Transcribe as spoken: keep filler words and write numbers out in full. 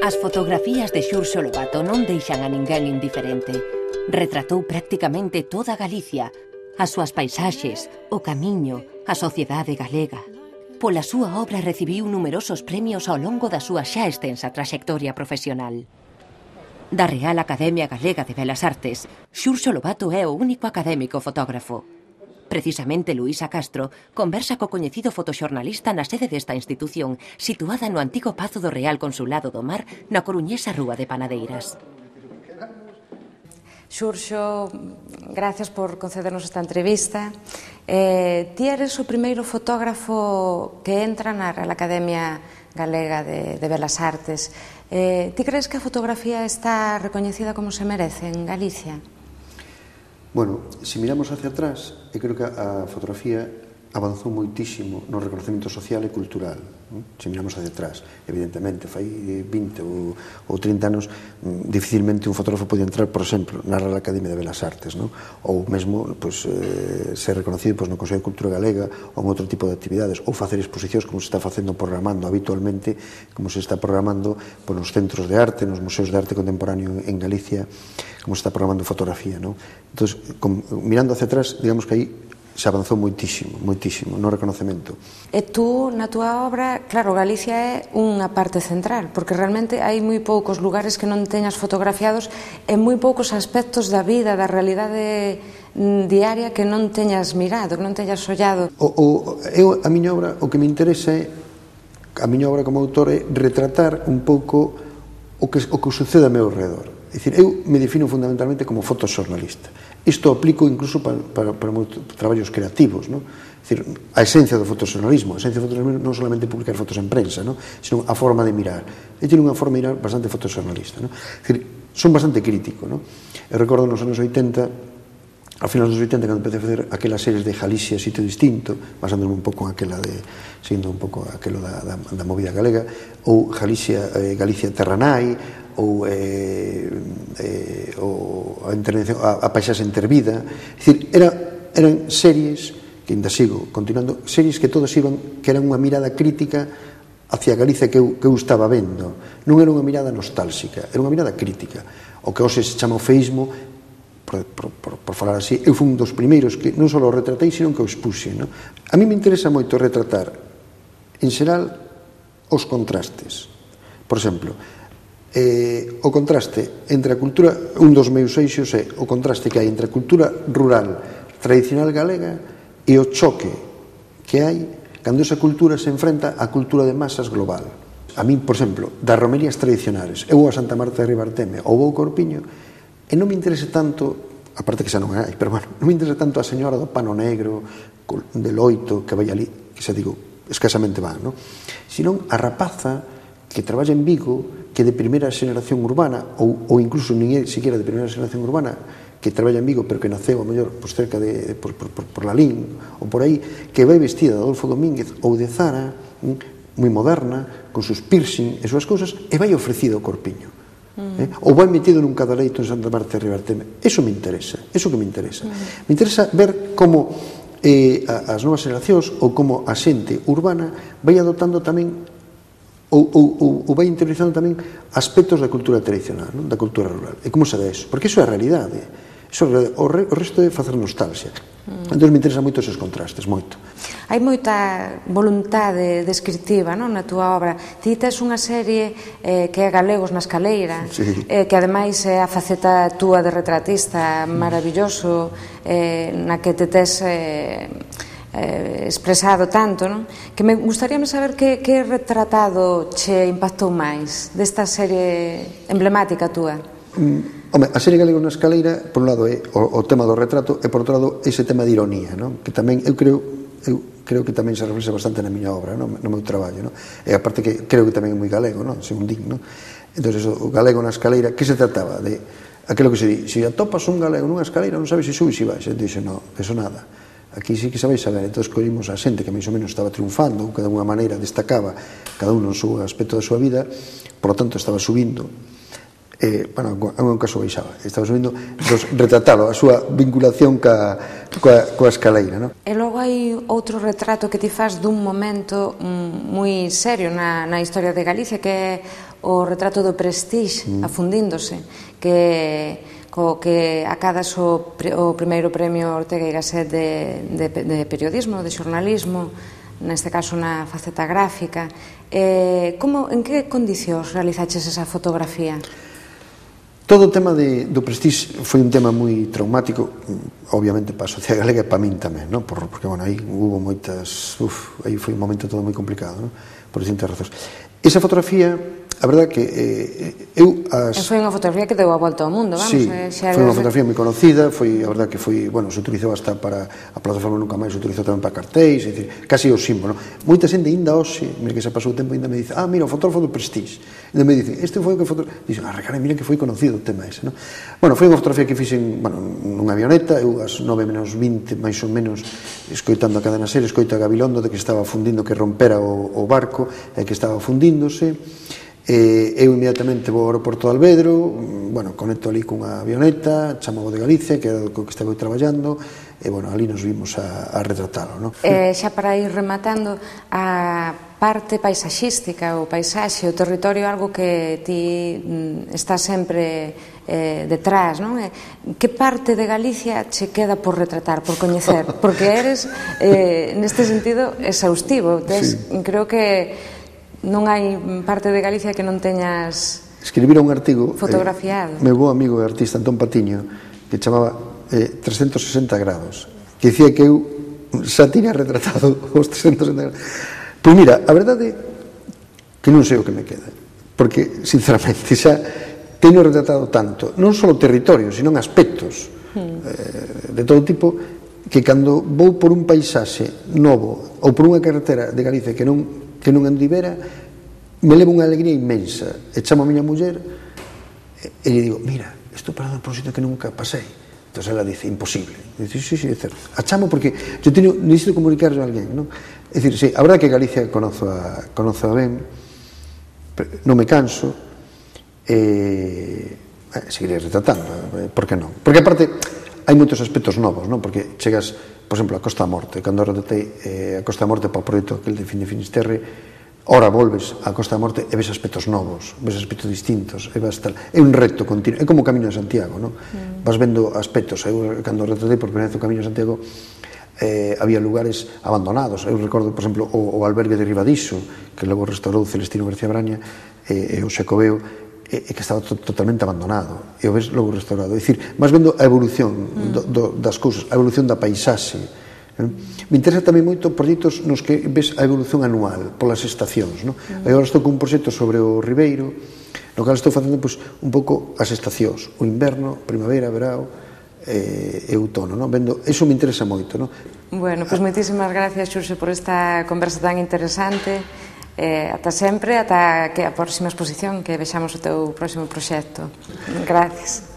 As fotografías de Xurxo Lobato non deixan a ninguén indiferente. Retratou prácticamente toda Galicia, as súas paisaxes, o camiño, a sociedade galega. Pola súa obra recibiu numerosos premios ao longo da súa xa extensa traxectoria profesional. Da Real Academia Galega de Belas Artes, Xurxo Lobato é o único académico fotógrafo. Precisamente Luísa Castro conversa co coñecido fotoxornalista na sede desta institución, situada no antigo Pazo do Real Consulado do Mar, na coruñesa Rúa de Panadeiras. Xurxo, gracias por concedernos esta entrevista. Eh, ti eres o primeiro fotógrafo que entra na Real Academia Galega de, de Belas Artes. Eh, ti crees que a fotografía está recoñecida como se merece en Galicia? Bueno, se miramos hacia atrás, eu creo que a fotografía avanzou moitísimo no reconocemento social e cultural. Se miramos hacia atrás, evidentemente, fai vinte ou trinta anos, dificilmente un fotógrafo podía entrar, por exemplo, na Real Academia de Belas Artes, ou mesmo ser reconocido no Consello de Cultura Galega ou en outro tipo de actividades, ou facer exposicións como se está facendo programando habitualmente, como se está programando nos centros de arte, nos museos de arte contemporáneo en Galicia, como se está programando fotografía. Entón, mirando hacia atrás, digamos que aí se avanzou moitísimo, moitísimo no reconocemento. E tú, na túa obra, claro, Galicia é unha parte central, porque realmente hai moi poucos lugares que non teñas fotografiados e moi poucos aspectos da vida, da realidade diaria que non teñas mirado, que non teñas ollado. O, o, eu, a miña obra, o que me interesa é, a miña obra como autor é retratar un pouco o que, o que sucede ao meu redor. É dicir, eu me defino fundamentalmente como fotoxornalista. Isto aplico incluso para, para, para traballos creativos, ¿no? Es decir, a esencia do fotoxornalismo, a esencia do fotoxornalismo non solamente publicar fotos en prensa, ¿no? Sino a forma de mirar. Eu teño unha forma de mirar bastante fotoxornalista, ¿no? Es decir, son bastante crítico, ¿no? Eu recordo nos anos oitenta, a finales dos oitenta, cando empecé a facer aquelas series de Galicia, Sitio Distinto, basándome un pouco en aquela de, seguindo un pouco aquelo da, da, da movida galega, ou Galicia, eh, Galicia Terranai, ou eh, eh, o, a, intervención, a, a paisaxe intervida. É dicir, era, eran series que ainda sigo continuando, series que todas iban, que eran unha mirada crítica hacia Galicia que eu, que eu estaba vendo. Non era unha mirada nostálxica, era unha mirada crítica. O que hoxe se chama o feísmo, por, por, por, por falar así, eu fui un dos primeiros que non só o retratei, sino que o expuxe, no? A mí me interesa moito retratar, en xeral, os contrastes. Por exemplo, Eh, o contraste entre a cultura, un dos meus eixos é o contraste que hai entre a cultura rural tradicional galega e o choque que hai cando esa cultura se enfrenta á cultura de masas global. A mí, por exemplo, das romerías tradicionales, eu vou a Santa Marta de Ribarteme ou vou ao Corpiño e non me interesa tanto, aparte que xa non hai, pero bueno, non me interesa tanto a señora do pano negro de Loito que vai ali, que xa digo, escasamente van, non? Senón a rapaza que traballa en Vigo, que de primeira xeración urbana, ou, ou incluso nin é siquiera de primeira xeración urbana, que traballa en Vigo, pero que naceu, a mellor, pues, cerca de, por, por, por, por Lalín, ou por aí, que vai vestida de Adolfo Domínguez ou de Zara, moi moderna, con sus piercing e súas cousas, e vai ofrecida ao Corpiño. Mm. Eh? Ou vai metido nun cadaleito en Santa Marta de Ribarteme. Eso me interesa, eso que me interesa. Mm. Me interesa ver como eh, as novas xeracións, ou como a xente urbana vai adoptando tamén Ou, ou, ou vai interiorizando tamén aspectos da cultura tradicional, non? Da cultura rural. E como se dá eso? Porque iso é a realidade. Iso é a realidade. O, re, o resto é facer nostalgia. Mm. Entón me interesan moito esos contrastes, moito. Hai moita voluntade descriptiva, non, na túa obra. Ti tes unha serie eh, que é Galegos na Escaleira, sí. eh, que ademais é a faceta túa de retratista maravilloso, eh, na que te tes... Eh, Eh, expresado tanto, non? Que me gustaría saber que, que retratado che impactou máis desta serie emblemática túa. Mm, home, a serie Galegos na Escaleira, por un lado é o, o tema do retrato e por outro lado ese tema de ironía, non? Que tamén eu creo eu creo que tamén se reflexa bastante na miña obra, non? No meu traballo, non? E aparte que creo que tamén é moi galego, non? Según din, non? Entón, eso, o galego na escaleira, que se trataba? De aquilo que se di, se atopas un galego nunha escaleira non sabes se subes e vais, e dixe, non, eso nada. Aquí sí que sabéis saber, entón escollimos a xente que máis ou menos estaba triunfando, que de alguna maneira destacaba cada un no seu aspecto da súa vida, por lo tanto estaba subindo, eh, bueno, en un caso baixaba, estaba subindo, entón, retratalo, a súa vinculación ca, coa, coa escaleira, non? E logo hai outro retrato que ti faz dun momento moi serio na, na historia de Galicia, que é o retrato do Prestige, mm. afundíndose, que co que acadas o, o primeiro premio Ortega y Gasset de, de, de periodismo, de xornalismo, neste caso na faceta gráfica. Eh, como, en que condicións realizaches esa fotografía? Todo o tema de, do Prestige foi un tema moi traumático, obviamente para a sociedade galega e para min tamén, non? Por, porque, bueno, aí hubo moitas... Uf, aí foi un momento todo moi complicado, non? Por distintas razóns. Esa fotografía, a verdade que eh, eu... As... Foi unha fotografía que deu a volta ao mundo, vamos. Sí, eh, xa foi unha fotografía moi conocida, foi, a verdade que foi, bueno, se utilizou hasta para, a plataforma Nunca Máis se utilizou tamén para cartéis, é dicir, casi o símbolo. Moita xente ainda hoxe, mira que se pasou o tempo, ainda me dice, ah, mira, o fotógrafo do Prestige. Ainda me dicen, este foi o que fotógrafo... Dicen, ah, recara, mira que foi conocido o tema ese, non? Bueno, foi unha fotografía que fixen, bueno, nunha avioneta, eu ás nove menos vinte, máis ou menos, escoitando a Cadena Ser, escoito a Gabilondo de que estaba fundindo, que rompera o, o barco, e que estaba fundíndose. Eh, eu inmediatamente vou ao aeroporto de Alvedro, bueno, conecto ali cunha avioneta, chamo de Galicia, que era o que estaba traballando, e, bueno, ali nos vimos a, a retratalo, non? Eh, xa para ir rematando, a parte paisaxística, o paisaxe, o territorio, algo que ti mm, está sempre eh, detrás, non? Eh, que parte de Galicia che queda por retratar, por coñecer? Porque eres, eh, neste sentido, exhaustivo. Tes, sí. Creo que non hai parte de Galicia que non teñas escribira un artigo fotografiado. Eh, meu bo amigo e artista Antón Patiño, que chamaba eh, trescentos sesenta grados, que dicía que eu xa tiña retratado os trescentos sesenta grados. Pois mira, a verdade que non sei o que me queda, porque sinceramente xa teño retratado tanto, non só o territorio, sino aspectos hmm. eh, de todo tipo, que cando vou por un paisaxe novo ou por unha carretera de Galicia que non que non andivera, me levo unha alegría inmensa, e chamo a miña muller e lle digo, mira, estou parado por un sitio que nunca pasei. Entón ela dice, imposible. Dice, sí, sí, é certo. A chamo porque eu teño, necesito comunicarlo a alguén, non? É dicir, sí, a verdade que Galicia conozo a, conozo a ben, non me canso, e eh, seguirei retratando, eh, por que non? Porque aparte hai moitos aspectos novos, non? Porque chegas, por exemplo, a Costa da Morte, cando retratei eh, a Costa da Morte para o proxecto aquel de Fin de Finisterre, ora volves a Costa da Morte e ves aspectos novos, ves aspectos distintos, e vas tal, é un reto continuo, é como o Camiño de Santiago, non? Mm. Vas vendo aspectos, eu cando retratei por primeira vez o Camiño de Santiago, eh, había lugares abandonados, eu recordo, por exemplo, o, o albergue de Ribadiso, que logo restaurou Celestino García Braña, e, e o Xacobeo, e, e que estaba to, totalmente abandonado, e o ves logo restaurado, é dicir, vas vendo a evolución mm. do, do, das cousas, a evolución da paisaxe. Me interesa tamén moito proxectos nos que ves a evolución anual polas estacións, non? Mm. Agora estou con un proxecto sobre o Ribeiro, no cal estou facendo pois, un pouco as estacións, o inverno, primavera, verao e, e outono, non? Vendo, eso me interesa moito, non? Bueno, pois moitísimas gracias, Xurxo, por esta conversa tan interesante. Eh, ata sempre, ata que a próxima exposición, que vexamos o teu próximo proxecto. Gracias.